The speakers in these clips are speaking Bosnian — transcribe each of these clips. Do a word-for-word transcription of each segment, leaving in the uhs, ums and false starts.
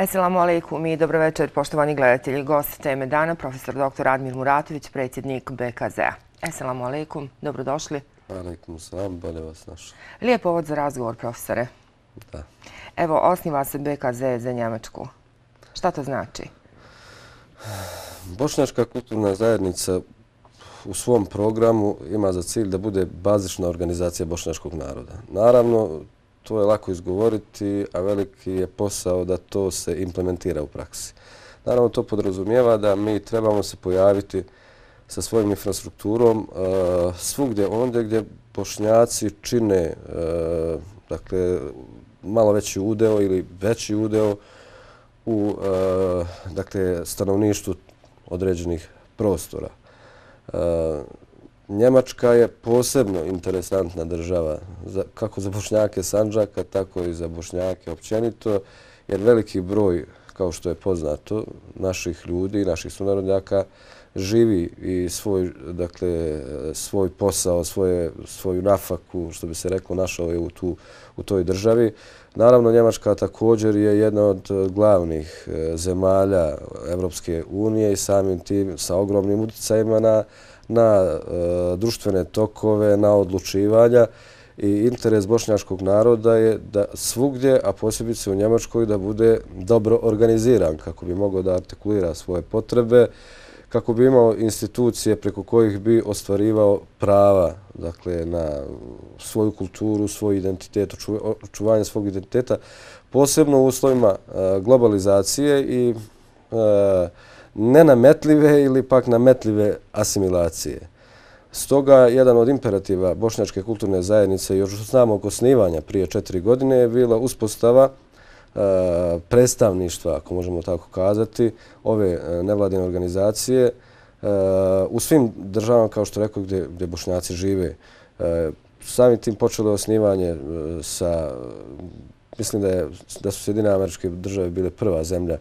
Esselamu alaikum i dobro večer, poštovani gledatelji. Gost teme dana, profesor doktor Admir Muratović, predsjednik B K Z-a. Esselamu alaikum, dobrodošli. Alaikum salam, bolje vas našao. Lijep povod za razgovor, profesore. Da. Evo, osniva se B K Z za Njemačku. Šta to znači? Bošnjačka kulturna zajednica u svom programu ima za cilj da bude bazična organizacija bošnjačkog naroda. Naravno, to je lako izgovoriti, a veliki je posao da to se implementira u praksi. Naravno, to podrazumijeva da mi trebamo se pojaviti sa svojim infrastrukturom uh, svugdje ondje gdje Bošnjaci čine uh, dakle, malo veći udeo ili veći udeo u uh, dakle, stanovništvu određenih prostora. Uh, Njemačka je posebno interesantna država, za, kako za Bošnjake Sandžaka, tako i za Bošnjake općenito, jer veliki broj, kao što je poznato, naših ljudi, naših sunarodnjaka, živi i svoj, dakle, svoj posao, svoje, svoju nafaku, što bi se reklo, našao je u, tu, u toj državi. Naravno, Njemačka također je jedna od glavnih zemalja Evropske unije i samim tim sa ogromnim utjecajima na na uh, društvene tokove, na odlučivanja i interes bošnjačkog naroda je da svugdje, a posebice u Njemačkoj, da bude dobro organiziran kako bi mogao da artikulira svoje potrebe, kako bi imao institucije preko kojih bi ostvarivao prava, dakle, na svoju kulturu, svoj identitet, očuvanje svog identiteta, posebno u uslovima uh, globalizacije i uh, nenametljive ili pak nametljive asimilacije. Stoga, jedan od imperativa Bošnjačke kulturne zajednice još od samog osnivanja prije četiri godine je bila uspostava uh, predstavništva, ako možemo tako kazati, ove uh, nevladine organizacije uh, u svim državama, kao što rekao, gdje, gdje Bošnjaci žive. Uh, samim tim počelo osnivanje uh, sa, mislim da, je, da su Sjedinjene Američke Države bile prva zemlja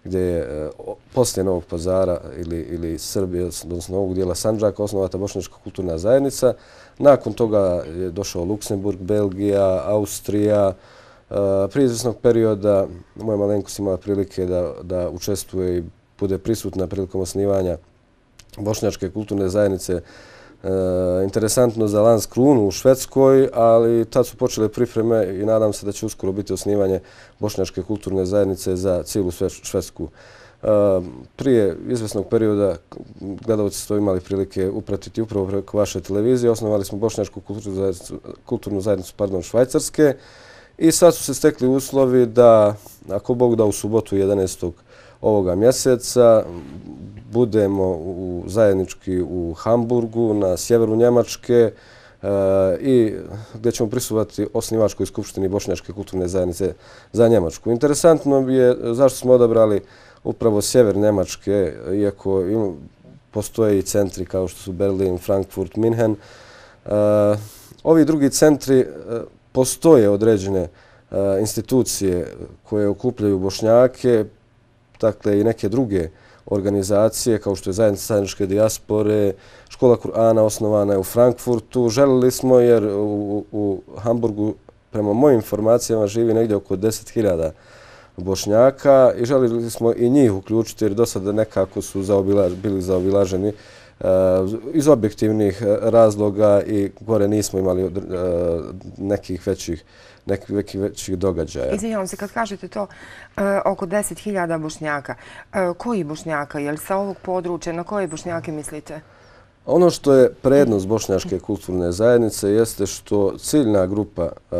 gdje je poslije Novog Pazara ili, ili Srbije, odnosno ovog dijela Sandžaka, osnovata Bošnjačka kulturna zajednica. Nakon toga je došao Luksemburg, Belgija, Austrija. Prije izvjesnog perioda moja malenkost imala prilike da, da učestvuje i bude prisutna prilikom osnivanja Bošnjačke kulturne zajednice. E, interesantno za Landskronu u Švedskoj, ali tad su počele pripreme i nadam se da će uskoro biti osnivanje Bošnjačke kulturne zajednice za cijelu Švedsku. E, prije izvjesnog perioda gledalci su to imali prilike upratiti upravo preko vaše televizije. Osnovali smo Bošnjačku kulturnu zajednicu, kulturnu zajednicu pardon, Švajcarske i sad su se stekli uslovi da, ako Bog da, u subotu jedanaestog ovoga mjeseca budemo u, zajednički u Hamburgu na sjeveru Njemačke e, i gdje ćemo prisustvovati osnivačkoj skupštini Bošnjačke kulturne zajednice za Njemačku. Interesantno je zašto smo odabrali upravo sjever Njemačke, iako im, postoje i centri kao što su Berlin, Frankfurt, Minhen. E, ovi drugi centri e, postoje određene e, institucije koje okupljaju Bošnjake, dakle i neke druge organizacije kao što je Zajednica zajedničke dijaspore, Škola Kur'ana osnovana je u Frankfurtu. Želili smo, jer u, u Hamburgu prema mojim informacijama živi negdje oko deset hiljada Bošnjaka i želili smo i njih uključiti jer do sada nekako su zaobila, bili zaobilaženi uh, iz objektivnih razloga i gore nismo imali uh, nekih većih nekih većih događaja. Izvinjavam se, kad kažete to, e, oko deset hiljada Bošnjaka, e, koji Bošnjaka? Je li sa ovog područja? Na koje Bošnjake mislite? Ono što je prednost Bošnjačke kulturne zajednice jeste što ciljna grupa e,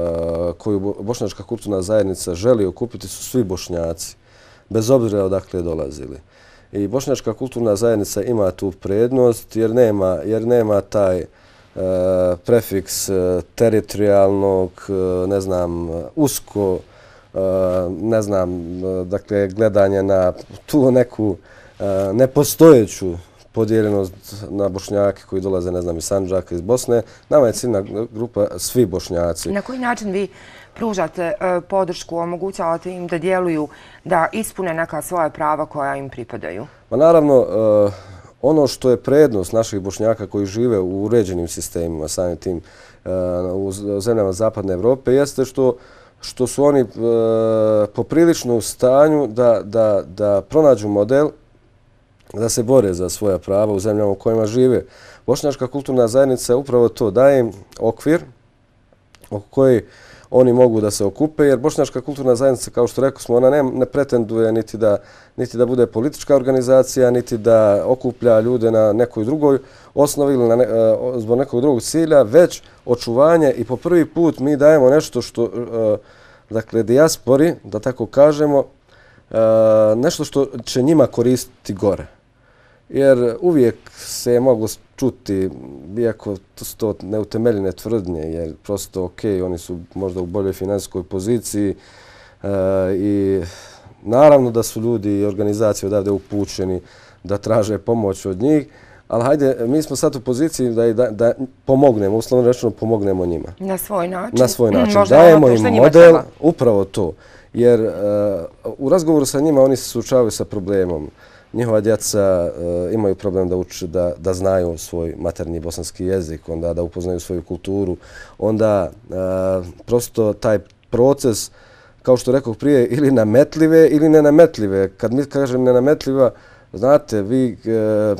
koju Bošnjačka kulturna zajednica želi okupiti su svi Bošnjaci, bez obzira odakle dolazili. I Bošnjačka kulturna zajednica ima tu prednost jer nema, jer nema taj Uh, prefiks uh, teritorijalnog, uh, ne znam, usko, uh, ne znam, uh, dakle, gledanje na tu neku uh, nepostojeću podijeljenost na Bošnjake koji dolaze, ne znam, iz Sandžaka, iz Bosne. Nama je ciljna grupa svi Bošnjaci. Na koji način vi pružate uh, podršku, omogućavate im da djeluju, da ispune neka svoja prava koja im pripadaju? Pa naravno, uh, ono što je prednost naših Bošnjaka koji žive u uređenim sistemima, samim tim u zemljama Zapadne Evrope, jeste što što su oni poprilično u stanju da, da, da pronađu model da se bore za svoja prava u zemljama u kojima žive. Bošnjačka kulturna zajednica upravo to daje im okvir oko koji oni mogu da se okupe, jer Bošnjačka kulturna zajednica, kao što rekao smo, ona ne, ne pretenduje niti da, niti da bude politička organizacija, niti da okuplja ljude na nekoj drugoj osnovi ili na ne, zbog nekog drugog cilja, već očuvanje i po prvi put mi dajemo nešto što, dakle, dijaspori, da tako kažemo, nešto što će njima koristiti gore. Jer uvijek se je moglo čuti, iako su to neutemeljene tvrdnje, jer prosto ok, oni su možda u boljoj finansijskoj poziciji e, i naravno da su ljudi i organizacije odavde upućeni da traže pomoć od njih, ali hajde, mi smo sad u poziciji da, da, da pomognemo, uslovno rečeno pomognemo njima. Na svoj način? Na svoj način. Možda dajemo im model, upravo to. Jer uh, u razgovoru sa njima oni se suočavaju sa problemom. Njihova djeca uh, imaju problem da uče, da, da znaju svoj maternji bosanski jezik, onda da upoznaju svoju kulturu. Onda uh, prosto taj proces, kao što rekao prije, ili nametljive ili nenametljive. Kad mi kažem nenametljiva, znate, vi uh,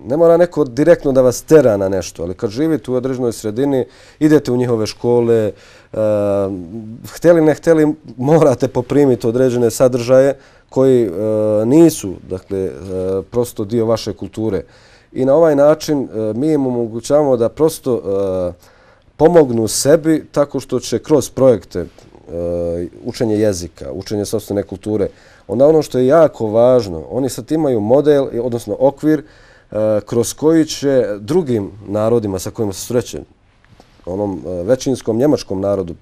ne mora neko direktno da vas tera na nešto, ali kad živite u određenoj sredini, idete u njihove škole, uh, htjeli ne htjeli, morate poprimiti određene sadržaje koji uh, nisu, dakle, uh, prosto dio vaše kulture. I na ovaj način uh, mi im omogućavamo da prosto uh, pomognu sebi tako što će kroz projekte uh, učenje jezika, učenje sopstvene kulture, onda ono što je jako važno, oni sad imaju model, odnosno okvir, kroz koji će drugim narodima sa kojima se sreće, onom većinskom njemačkom narodu,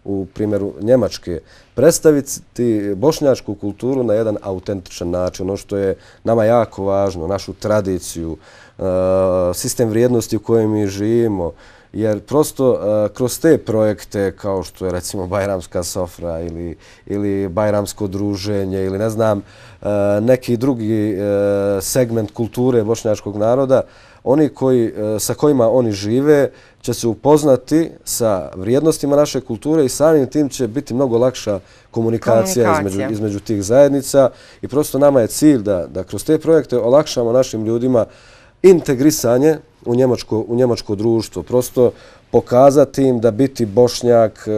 u primjeru Njemačke, predstaviti bošnjačku kulturu na jedan autentičan način, ono što je nama jako važno, našu tradiciju, sistem vrijednosti u kojem mi živimo, jer prosto kroz te projekte kao što je recimo Bajramska sofra ili, ili Bajramsko druženje ili ne znam neki drugi segment kulture bošnjačkog naroda, oni koji, sa kojima oni žive će se upoznati sa vrijednostima naše kulture i samim tim će biti mnogo lakša komunikacija, komunikacija. Između, između tih zajednica i prosto nama je cilj da, da kroz te projekte olakšamo našim ljudima integrisanje u njemačko, u njemačko društvo. Prosto pokazati im da biti Bošnjak e,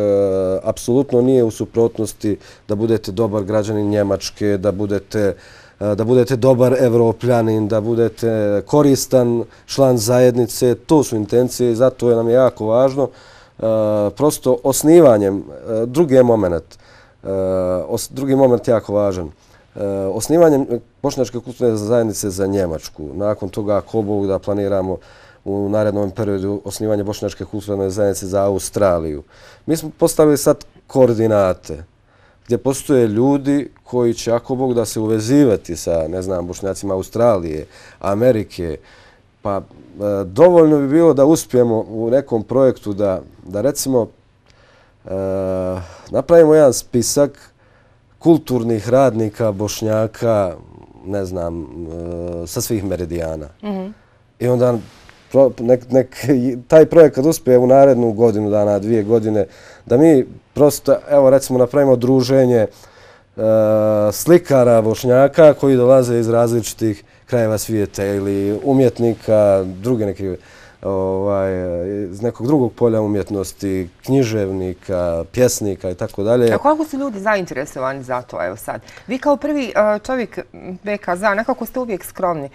apsolutno nije u suprotnosti da budete dobar građanin Njemačke, da budete, e, da budete dobar Evropljanin, da budete koristan član zajednice. To su intencije i zato je nam je jako važno. E, prosto osnivanjem, e, drugi je moment, e, os, drugi moment jako važan. E, osnivanjem Bošnjačke kulturne zajednice za Njemačku. Nakon toga, ako Bog da planiramo u narednom periodu osnivanje Bošnjačke kulturne zajednice za Australiju. Mi smo postavili sad koordinate gdje postoje ljudi koji će, ako Bog da, se uvezivati sa, ne znam, Bošnjacima Australije, Amerike. Pa e, dovoljno bi bilo da uspijemo u nekom projektu da, da recimo, e, napravimo jedan spisak kulturnih radnika, Bošnjaka, ne znam, sa svih meridijana. Mm-hmm. I onda nek, nek, taj projekt kad uspije u narednu godinu dana, dvije godine, da mi prosto, evo recimo, napravimo druženje uh, slikara Bošnjaka koji dolaze iz različitih krajeva svijeta ili umjetnika, druge neke, ovaj, iz nekog drugog polja umjetnosti, književnika, pjesnika i tako dalje. A koliko su ljudi zainteresovani za to, evo sad? Vi kao prvi čovjek B K Z, nekako ste uvijek skromni.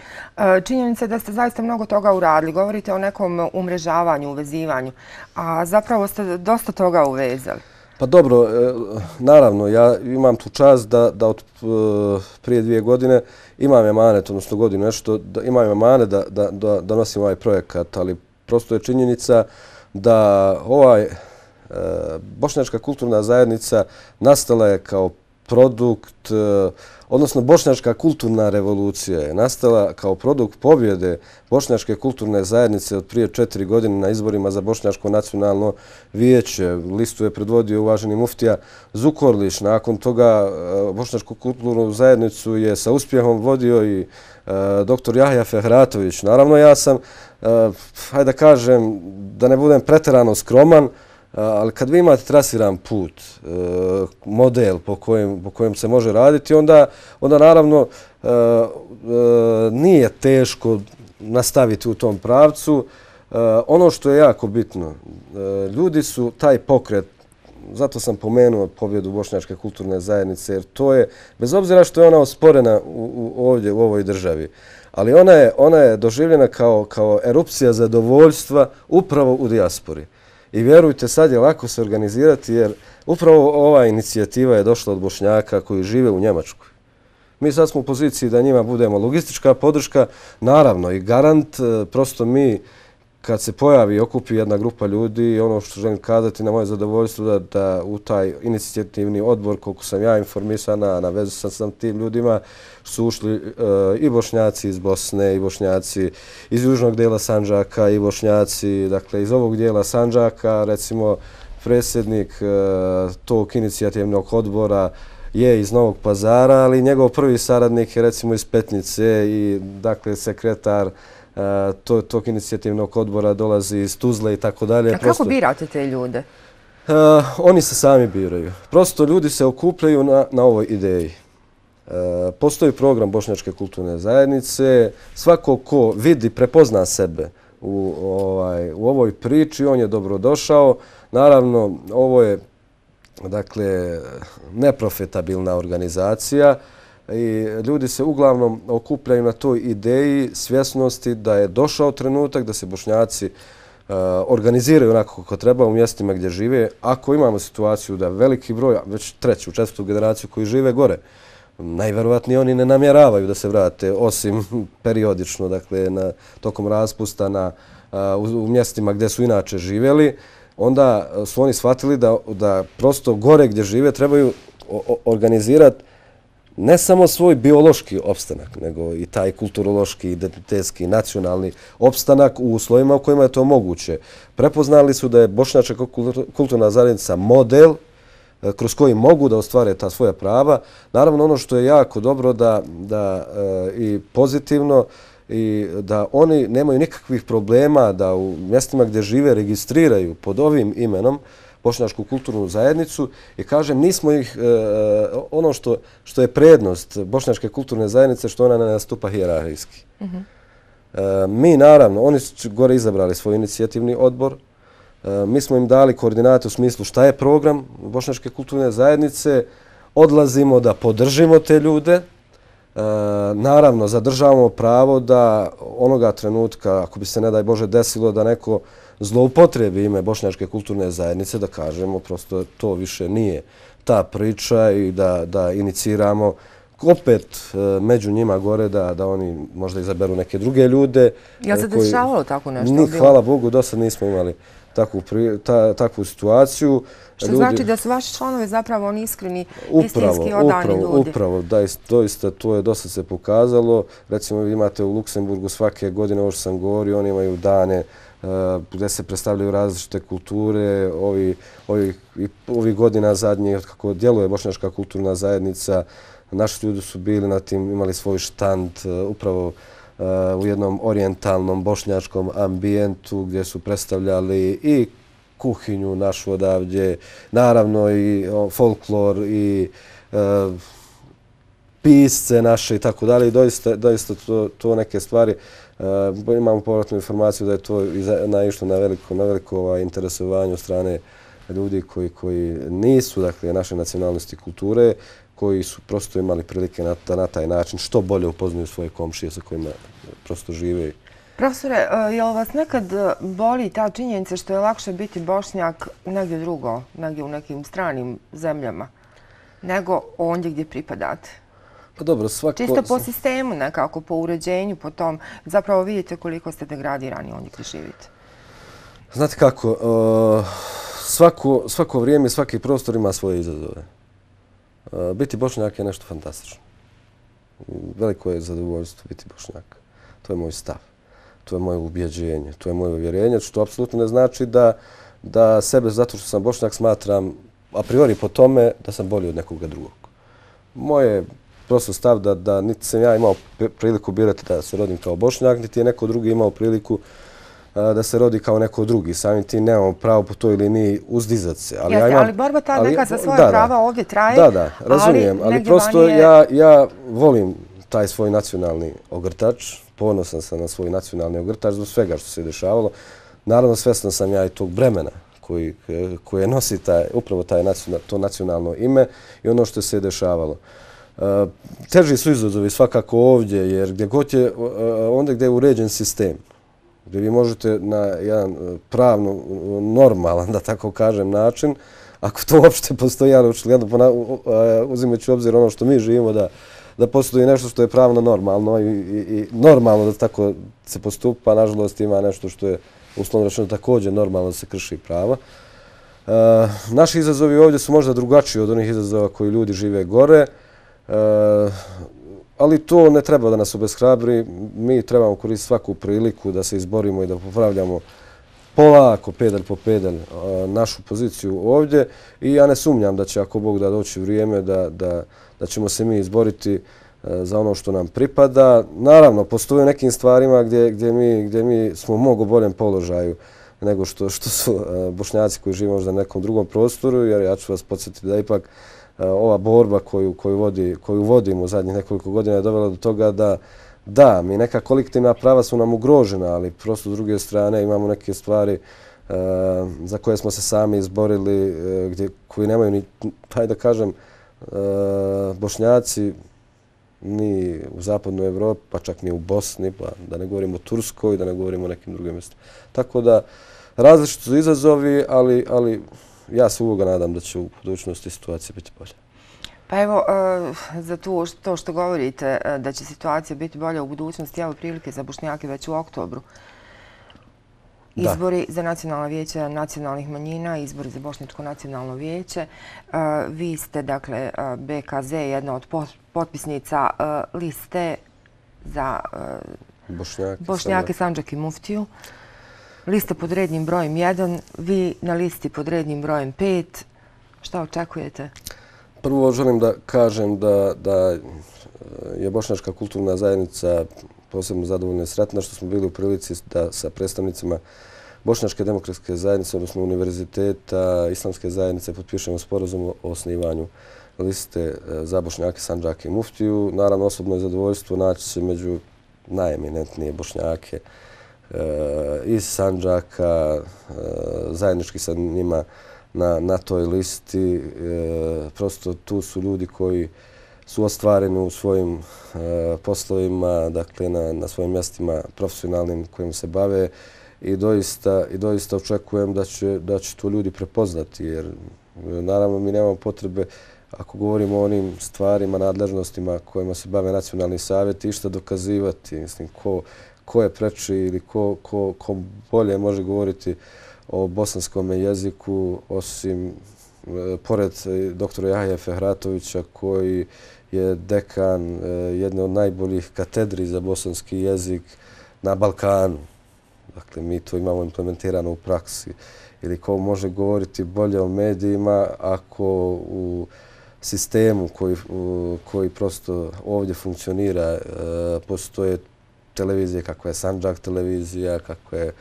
Činjenica je da ste zaista mnogo toga uradili. Govorite o nekom umrežavanju, uvezivanju, a zapravo ste dosta toga uvezali. Pa dobro, naravno, ja imam tu čast da, da od prije dvije godine imam emanet, odnosno godinu nešto, da imam emanet da, da, da, da nosim ovaj projekat, ali prosto je činjenica da ovaj e, Bošnjačka kulturna zajednica nastala je kao produkt, e, odnosno Bošnjačka kulturna revolucija je nastala kao produkt pobjede Bošnjačke kulturne zajednice od prije četiri godine na izborima za Bošnjačko nacionalno vijeće. Listu je predvodio uvaženi muftija Zukorlić. Nakon toga Bošnjačku kulturnu zajednicu je sa uspjehom vodio i e, doktor Jahja Fehratović. Naravno, ja sam, e, hajde da kažem, da ne budem preterano skroman, e, Ali kad vi imate trasiran put, model po kojem, po kojem se može raditi, onda, onda naravno nije teško nastaviti u tom pravcu. Ono što je jako bitno, ljudi su taj pokret, zato sam pomenuo pobjedu Bošnjačke kulturne zajednice, jer to je, bez obzira što je ona osporena u, u, ovdje u ovoj državi, ali ona je, ona je doživljena kao, kao erupcija zadovoljstva upravo u dijaspori. I vjerujte, sad je lako se organizirati, jer upravo ova inicijativa je došla od Bošnjaka koji žive u Njemačkoj. Mi sad smo u poziciji da njima budemo logistička podrška, naravno i garant, prosto mi kad se pojavi i okupi jedna grupa ljudi, ono što želim kazati na moje zadovoljstvo da, da u taj inicijativni odbor, koliko sam ja informisana, na vezu sam sam tim ljudima, su ušli uh, i Bošnjaci iz Bosne, i Bošnjaci iz južnog dijela Sandžaka, i Bošnjaci, dakle iz ovog dijela Sandžaka, recimo predsjednik uh, tog inicijativnog odbora je iz Novog Pazara, ali njegov prvi saradnik je recimo iz Petnice i dakle sekretar To, tog inicijativnog odbora dolazi iz Tuzle i tako dalje. A kako birate te ljude? Uh, oni se sami biraju. Prosto ljudi se okupljaju na, na ovoj ideji. Uh, postoji program Bošnjačke kulturne zajednice. Svako ko vidi, prepozna sebe u, ovaj, u ovoj priči, on je dobrodošao. Naravno, ovo je dakle, neprofitabilna organizacija. I ljudi se uglavnom okupljaju na toj ideji svjesnosti da je došao trenutak da se Bošnjaci uh, organiziraju onako kako treba u mjestima gdje žive. Ako imamo situaciju da veliki broj, već treću, četvrtu generaciju koji žive gore, najvjerovatnije oni ne namjeravaju da se vrate, osim periodično, dakle, na, tokom raspusta na, uh, u, u mjestima gdje su inače živjeli, onda su oni shvatili da, da prosto gore gdje žive trebaju organizirati ne samo svoj biološki opstanak, nego i taj kulturološki, identitetski, nacionalni opstanak u uslovima u kojima je to moguće. Prepoznali su da je Bošnjačka kulturna zajednica model kroz koji mogu da ostvare ta svoja prava. Naravno, ono što je jako dobro da, da i pozitivno i da oni nemaju nikakvih problema da u mjestima gdje žive registriraju pod ovim imenom Bošnjačku kulturnu zajednicu i kažem, nismo ih, e, ono što, što je prednost Bošnjačke kulturne zajednice, što ona ne nastupa hijerarhijski. Mm-hmm. e, mi naravno, oni su gore izabrali svoj inicijativni odbor, e, mi smo im dali koordinate u smislu šta je program Bošnjačke kulturne zajednice, odlazimo da podržimo te ljude, e, naravno zadržavamo pravo da onoga trenutka, ako bi se ne daj Bože desilo da neko zloupotrebi ime Bošnjačke kulturne zajednice, da kažemo prosto to više nije ta priča i da, da iniciramo opet među njima gore da, da oni možda izaberu neke druge ljude. Ja se dešavalo tako nešto? Ni, hvala Bogu, do sad nismo imali takvu, ta, takvu situaciju. Što ljudi, znači da su vaši članovi zapravo oni iskreni, upravo, istinski odani upravo, ljudi? Upravo, da, doista to je dosta se pokazalo. Recimo vi imate u Luksemburgu svake godine, ovo što sam govorio, oni imaju dane gdje se predstavljaju različite kulture. Ovi, ovi, ovi godina zadnjih, od kako djeluje Bošnjačka kulturna zajednica, naši ljudi su bili na tim, imali svoj štand upravo u jednom orijentalnom bošnjačkom ambijentu gdje su predstavljali i kuhinju našu odavdje, naravno i folklor i e, pisce naše i tako dalje. I doista, doista to, to neke stvari. E, imamo povratnu informaciju da je to naišlo na veliko, na veliko ovaj, interesovanje od strane ljudi koji, koji nisu dakle, naše nacionalnosti kulture, koji su prosto imali prilike na, na taj način što bolje upoznaju svoje komšije sa kojima prosto žive. Profesore, je li vas nekad boli ta činjenica što je lakše biti Bošnjak negdje drugo, negdje u nekim stranim zemljama, nego ondje gdje pripadate? Pa dobro, svako... Čisto po sistemu nekako, po uređenju, po tom, zapravo vidite koliko ste degradirani ondje gdje živite. Znate kako, uh, svako, svako vrijeme, svaki prostor ima svoje izazove. Uh, biti Bošnjak je nešto fantastično. Veliko je zadovoljstvo biti Bošnjak. To je moj stav. To je moje ubjeđenje, to je moje uvjerenje, što apsolutno ne znači da, da sebe, zato što sam Bošnjak, smatram a priori po tome da sam bolji od nekoga drugog. Moje prosto stav da, da niti sam ja imao priliku birati da se rodim kao Bošnjak, niti je neko drugi imao priliku da se rodi kao neko drugi. Samim tim nemamo pravo po toj liniji uzdizat se. Ali, Jeste, ja imam, ali borba ta neka za svoje da, prava ovdje traje. Da, da, razumijem. Ali, ali prosto je... ja, ja volim taj svoj nacionalni ogrtač. Ponosan sam na svoj nacionalni ogrtač zbog svega što se dešavalo. Naravno, svjestan sam ja i tog bremena koji, koje nosi taj, upravo taj nacional, to nacionalno ime i ono što se je dešavalo. Uh, teži su izazovi svakako ovdje, jer gdje god je, uh, onda gdje je uređen sistem, gdje vi možete na jedan pravno normalan, da tako kažem, način, ako to uopšte postoji, ali očigledno uzimajući u obzir ono što mi živimo, da, da postoji nešto što je pravno normalno i, i, i normalno da tako se postupa, nažalost ima nešto što je uslovno rečeno također normalno da se krši prava. Uh, naši izazovi ovdje su možda drugačiji od onih izazova koji ljudi žive gore, uh, ali to ne treba da nas obeshrabri. Mi trebamo koristiti svaku priliku da se izborimo i da popravljamo polako, pedalj po pedalj, našu poziciju ovdje. I ja ne sumnjam da će, ako Bog da, doći vrijeme da, da, da ćemo se mi izboriti za ono što nam pripada. Naravno, postoje nekim stvarima gdje, gdje, mi, gdje mi smo u mnogo boljem položaju nego što, što su Bošnjaci koji žive možda na nekom drugom prostoru, jer ja ću vas podsjetiti da ipak ova borba koju, koju, vodi, koju vodimo u zadnjih nekoliko godina je dovela do toga da da, mi neka kolektivna prava su nam ugrožena, ali prosto s druge strane imamo neke stvari uh, za koje smo se sami izborili, uh, gdje, koji nemaju ni, hajde da kažem, uh, Bošnjaci ni u zapadnoj Evropi, pa čak ni u Bosni, pa da ne govorimo o Turskoj, da ne govorimo o nekim drugim mjestima. Tako da, različiti su izazovi, ali, ali ja se uvoga nadam da će u budućnosti situacija biti bolja. Pa evo, za to što govorite da će situacija biti bolja u budućnosti, evo prilike za Bošnjake već u oktobru. Izbori za nacionalna vijeća nacionalnih manjina, izbori za Bošnjačko nacionalno vijeće. Vi ste, dakle, B K Z, jedna od potpisnica liste za Bošnjake, Sandžak i Muftiju. Lista pod rednim brojem jedan, vi na listi pod rednim brojem pet. Šta očekujete? Prvo želim da kažem da, da je Bošnjačka kulturna zajednica posebno zadovoljna i sretna što smo bili u prilici da sa predstavnicima Bošnjačke demokratske zajednice, odnosno univerziteta, islamske zajednice, potpišemo sporazum o osnivanju liste za Bošnjake, Sandžake i Muftiju. Naravno, osobno je zadovoljstvo naći se među najeminentnije Bošnjake iz Sandžaka, zajednički sa njima na, na toj listi. E, prosto tu su ljudi koji su ostvareni u svojim e, poslovima, dakle na, na svojim mjestima profesionalnim kojim se bave i doista, i doista očekujem da će, da će to ljudi prepoznati, jer naravno mi nemamo potrebe, ako govorimo o onim stvarima, nadležnostima kojima se bave nacionalni savjeti, išta dokazivati. Mislim, ko, ko je preči ili ko, ko, ko bolje može govoriti o bosanskom jeziku, osim pored doktora Jahje Fehratovića, koji je dekan jedne od najboljih katedri za bosanski jezik na Balkanu. Dakle, mi to imamo implementirano u praksi. Ili ko može govoriti bolje o medijima ako u sistemu koji, koji prosto ovdje funkcionira postoje televizije kakva je Sandžak televizija, kakva je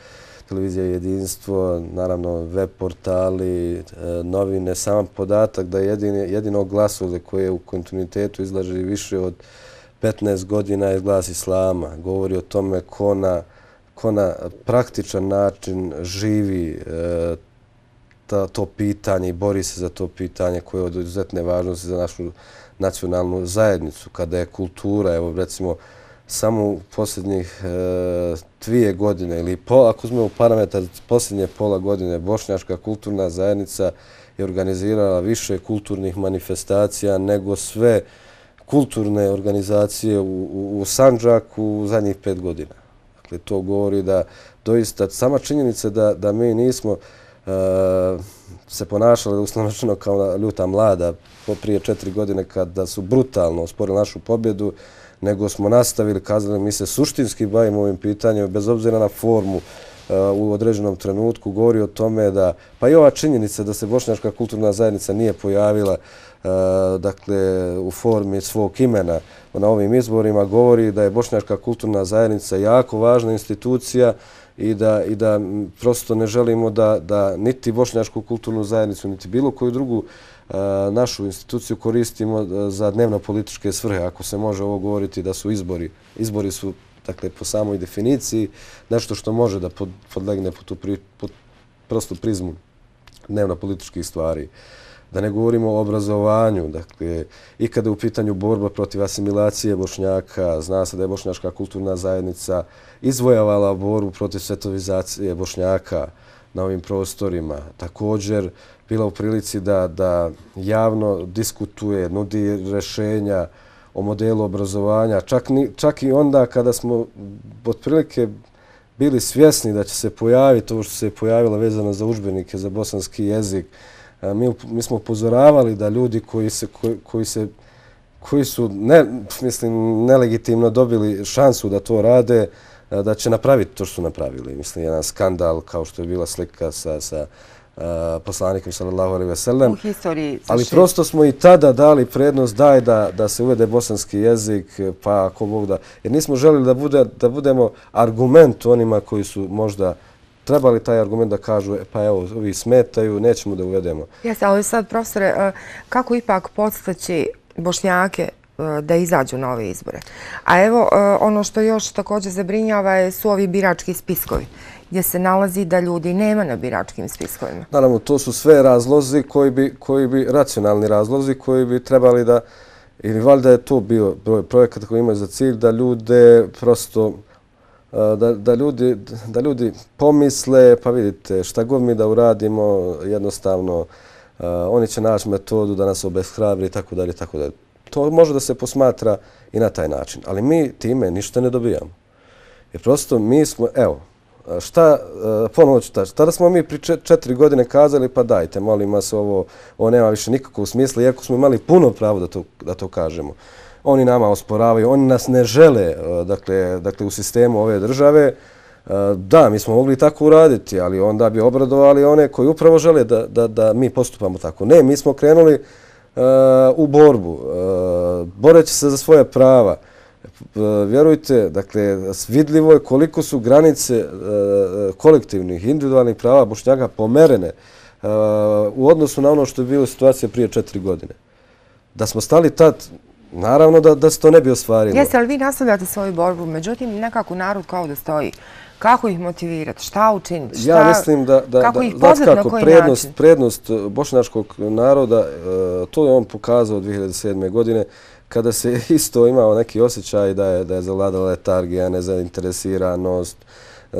televizija Jedinstvo, naravno web portali, novine. Sam podatak da jedini, jedino glasovlje koje u kontinuitetu izlaže više od petnaest godina je glas Islama. Govori o tome ko na, ko na praktičan način živi ta, to pitanje i bori se za to pitanje koje je od izuzetne važnosti za našu nacionalnu zajednicu. Kada je kultura, evo recimo, samo u posljednjih e, dvije godine ili po, ako uzmemo parametar posljednje pola godine, Bošnjačka kulturna zajednica je organizirala više kulturnih manifestacija nego sve kulturne organizacije u, u, u Sandžaku u zadnjih pet godina. Dakle, to govori da doista sama činjenica da, da mi nismo e, se ponašali uslovno rečeno kao ljuta mlada prije četiri godine kada su brutalno osporili našu pobjedu, nego smo nastavili, kazali, mi se suštinski bavimo ovim pitanjem, bez obzira na formu uh, u određenom trenutku, govori o tome da, pa i ova činjenica da se Bošnjačka kulturna zajednica nije pojavila dakle, u formi svog imena na ovim izborima, govori da je Bošnjačka kulturna zajednica jako važna institucija i da, i da prosto ne želimo da, da niti Bošnjačku kulturnu zajednicu, niti bilo koju drugu našu instituciju koristimo za dnevno-političke svrhe. Ako se može ovo govoriti da su izbori. Izbori su, dakle, po samoj definiciji nešto što može da podlegne po tu pri, po prostu prizmu dnevno-političkih stvari. Da ne govorimo o obrazovanju. Dakle, i kada je u pitanju borba protiv asimilacije Bošnjaka, zna se da je Bošnjačka kulturna zajednica izvojavala borbu protiv svetovizacije Bošnjaka na ovim prostorima. Također, bila u prilici da, da javno diskutuje, nudi rešenja o modelu obrazovanja. Čak, ni, čak i onda kada smo otprilike bili svjesni da će se pojaviti ovo što se je pojavilo vezano za udžbenike za bosanski jezik, mi, mi smo upozoravali da ljudi koji, se, koji, koji, se, koji su ne, mislim, nelegitimno dobili šansu da to rade, da će napraviti to što su napravili. Mislim, jedan skandal kao što je bila slika sa, sa uh, poslanikom sallallahu alejhi ve sellem. U historiji. Ali prosto smo i tada dali prednost daj da, da se uvede bosanski jezik, pa ako Bog da... Jer nismo želili da, bude, da budemo argument onima koji su možda trebali taj argument da kažu e, pa evo, ovi smetaju, nećemo da uvedemo. Jeste, ali sad, profesore, kako ipak podstaći Bošnjake da izađu na ove izbore? A evo, ono što još također zabrinjava su ovi birački spiskovi, gdje se nalazi da ljudi nema na biračkim spiskovima. Naravno, to su sve razlozi koji bi, koji bi, racionalni razlozi koji bi trebali da, ili valjda je to bio projekat koji ima za cilj da ljude prosto, da, da, ljudi, da ljudi pomisle, pa vidite, šta god mi da uradimo, jednostavno, oni će naći metodu da nas obeshrabri i tako dalje, tako dalje. To može da se posmatra i na taj način, ali mi time ništa ne dobijamo. Jer prosto mi smo, evo, šta, ponovo ću taći, tada smo mi pri četiri godine kazali, pa dajte, molim vas, ovo, ovo nema više nikakvog smisla, iako smo imali puno pravo da to, da to kažemo. Oni nama osporavaju, oni nas ne žele, dakle, dakle u sistemu ove države. Da, mi smo mogli tako uraditi, ali onda bi obradovali one koji upravo žele da, da, da mi postupamo tako. Ne, mi smo krenuli u borbu, boreći se za svoje prava. Vjerujte, dakle, vidljivo je koliko su granice kolektivnih, individualnih prava Bošnjaka pomerene u odnosu na ono što je bilo situacija prije četiri godine. Da smo stali tad, naravno da, da se to ne bi ostvarilo. Jeste, ali vi nastavljate svoju borbu, međutim, nekako narod kao da stoji. Kako ih motivirati? Šta učiniti? Šta, ja mislim da, da, kako da ih pozvati, na koji prednost, način? prednost bošnjačkog naroda, to je on pokazao dvije hiljade sedme. godine, kada se isto imao neki osjećaj da je, da je zavladala letargija, nezainteresiranost, e,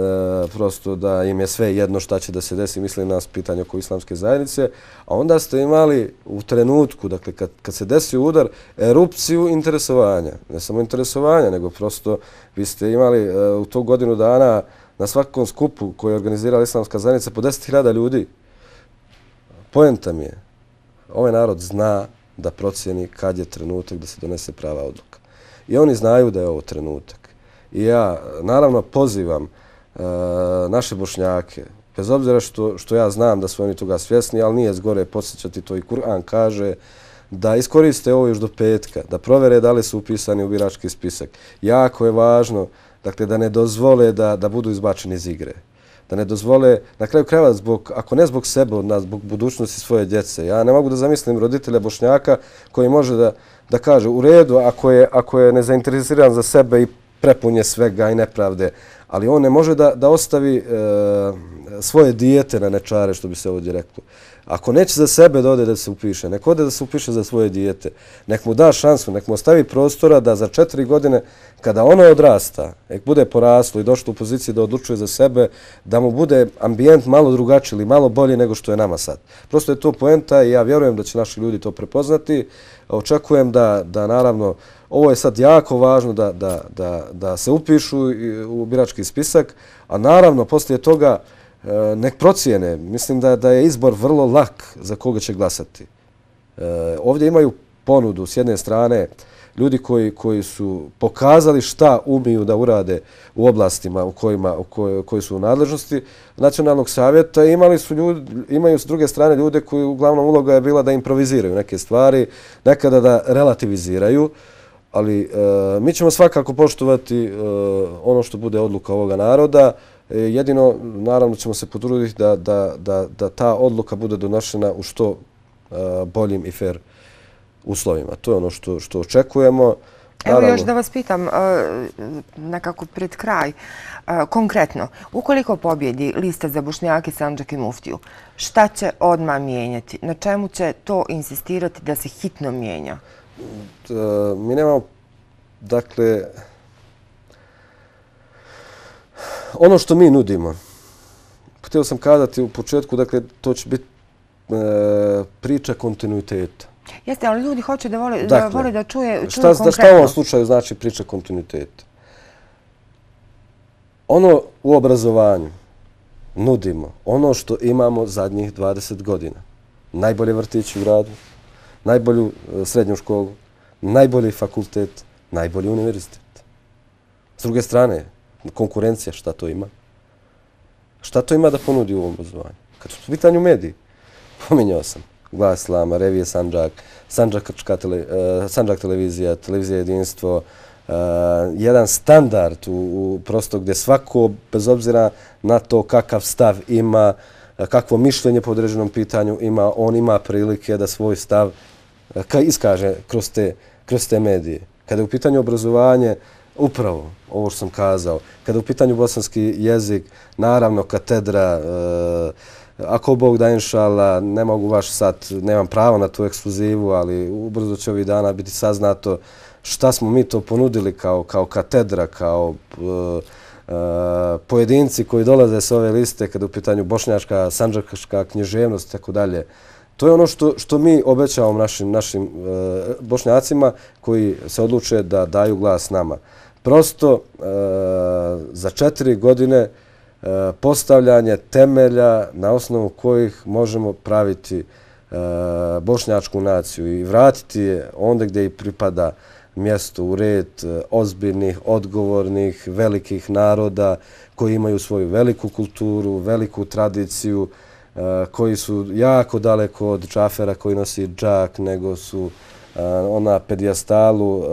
prosto da im je sve jedno šta će da se desi, mislim nas pitanje oko islamske zajednice, a onda ste imali u trenutku, dakle kad, kad se desio udar, erupciju interesovanja. Ne samo interesovanja, nego prosto vi ste imali e, u tog godinu dana na svakom skupu koji je organizirala islamska zajednica po deset hiljada ljudi. Poenta mi je, ovaj narod zna da procijeni kad je trenutak da se donese prava odluka. I oni znaju da je ovo trenutak. I ja naravno pozivam e, naše Bošnjake, bez obzira što, što ja znam da su oni toga svjesni, ali nije zgore podsjećati, to i Kur'an kaže, da iskoriste ovo još do petka, da provere da li su upisani u birački spisak. Jako je važno, dakle, da ne dozvole da, da budu izbačeni iz igre. Da ne dozvole, na kraju krajeva, zbog, ako ne zbog sebe, od nas, zbog budućnosti svoje djece. Ja ne mogu da zamislim roditelja Bošnjaka koji može da, da kaže u redu ako je, ako je nezainteresiran za sebe i prepunje svega i nepravde, ali on ne može da, da ostavi e, svoje dijete na nečare, što bi se ovdje reklo. Ako neće za sebe da ode da se upiše, nek ode da se upiše za svoje dijete. Nek mu da šansu, nek mu ostavi prostora da za četiri godine, kada ono odrasta, nek bude poraslo i došlo u poziciji da odlučuje za sebe, da mu bude ambijent malo drugačiji ili malo bolji nego što je nama sad. Prosto je to poenta i ja vjerujem da će naši ljudi to prepoznati. Očekujem da, da naravno, ovo je sad jako važno da, da, da, da se upišu u birački spisak, a naravno poslije toga nek procijene. Mislim da, da je izbor vrlo lak za koga će glasati. E, ovdje imaju ponudu s jedne strane ljudi koji, koji su pokazali šta umiju da urade u oblastima u kojima, u koj, koji su u nadležnosti Nacionalnog savjeta. Imali su ljudi, imaju s druge strane ljude koji uglavnom uloga je bila da improviziraju neke stvari, nekada da relativiziraju, ali e, mi ćemo svakako poštovati e, ono što bude odluka ovoga naroda. E, jedino, naravno, ćemo se potruditi da, da, da, da ta odluka bude donošena u što e, boljim i fair uslovima. To je ono što, što očekujemo. Evo još da vas pitam, nekako pred kraj, konkretno, ukoliko pobjedi lista za Bošnjake, Sandžak i Muftiju, šta će odmah mijenjati? Na čemu će to insistirati da se hitno mijenja? Mi nemamo, dakle, ono što mi nudimo, htio sam kazati u početku, dakle, to će biti priča kontinuiteta. Jeste, ali ljudi hoće da vole da, vole da čuje, čuje šta, konkretno. Šta u ovom slučaju znači priča kontinuiteta? Ono u obrazovanju nudimo, ono što imamo zadnjih dvadeset godina. Najbolje vrtići u gradu, najbolju srednju školu, najbolji fakultet, najbolji univerzitet. S druge strane, konkurencija, šta to ima? Šta to ima da ponudi u ovom obrazovanju? Kad su u pitanju mediji, pominjao sam Glas Islama, Revije Sandžak, Sandžak, tele, uh, Sandžak televizija, televizija jedinstvo, uh, jedan standard u, u prosto gdje svako, bez obzira na to kakav stav ima, kakvo mišljenje po određenom pitanju ima, on ima prilike da svoj stav uh, iskaže kroz te, kroz te medije. Kada je u pitanju obrazovanje, upravo ovo što sam kazao, kada je u pitanju bosanski jezik, naravno katedra, uh, ako Bog da, inšala, ne mogu vaš sad, nemam pravo na tu ekskluzivu, ali ubrzo će ovih dana biti saznato šta smo mi to ponudili kao, kao katedra, kao uh, uh, pojedinci koji dolaze s ove liste kada je u pitanju bošnjačka, sandžačka književnost i tako dalje. To je ono što, što mi obećavamo našim, našim uh, bošnjacima koji se odluče da daju glas nama. Prosto uh, za četiri godine postavljanje temelja na osnovu kojih možemo praviti bošnjačku naciju i vratiti je onda gdje i pripada mjesto u red ozbiljnih, odgovornih, velikih naroda koji imaju svoju veliku kulturu, veliku tradiciju, koji su jako daleko od Džafera koji nosi džak, nego su ona pedijastalu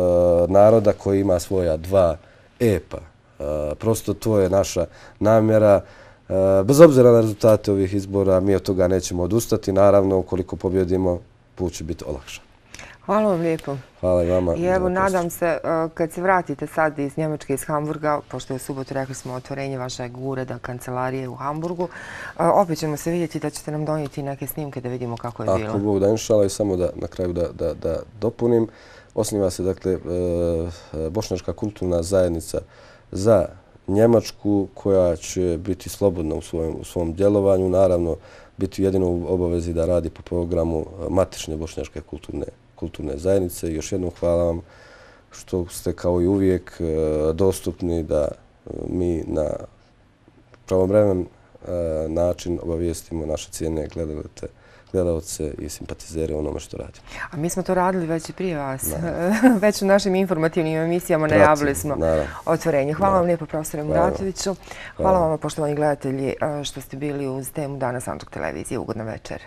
naroda koji ima svoja dva epa. Prosto to je naša namjera. Bez obzira na rezultate ovih izbora, mi od toga nećemo odustati. Naravno, ukoliko pobjedimo, put će biti olakšan. Hvala vam lijepo. Hvala i vama. I evo, nadam se, kad se vratite sad iz Njemačke, iz Hamburga, pošto je u subotu rekli smo otvorenje vašeg ureda, kancelarije u Hamburgu, opet ćemo se vidjeti da ćete nam donijeti neke snimke da vidimo kako je bilo. Ako Bog da, inšala, i samo da na kraju da, da, da dopunim. Osniva se, dakle, Bošnjačka kulturna zajednica za Njemačku koja će biti slobodna u svom, u svom djelovanju. Naravno, biti jedino u obavezi da radi po programu matične Bošnjačke kulturne, kulturne zajednice. Još jednom hvala vam što ste kao i uvijek dostupni da mi na pravovremen način obavijestimo naše cijene gledalce, gledalce i simpatizere onome što radimo. A mi smo to radili već i prije vas. Već u našim informativnim emisijama najavili smo otvorenje. Hvala vam lijepo, profesore Muratoviću. Hvala vam, poštovani gledatelji, što ste bili uz temu Dana Sandžak televizije. Ugodna večer.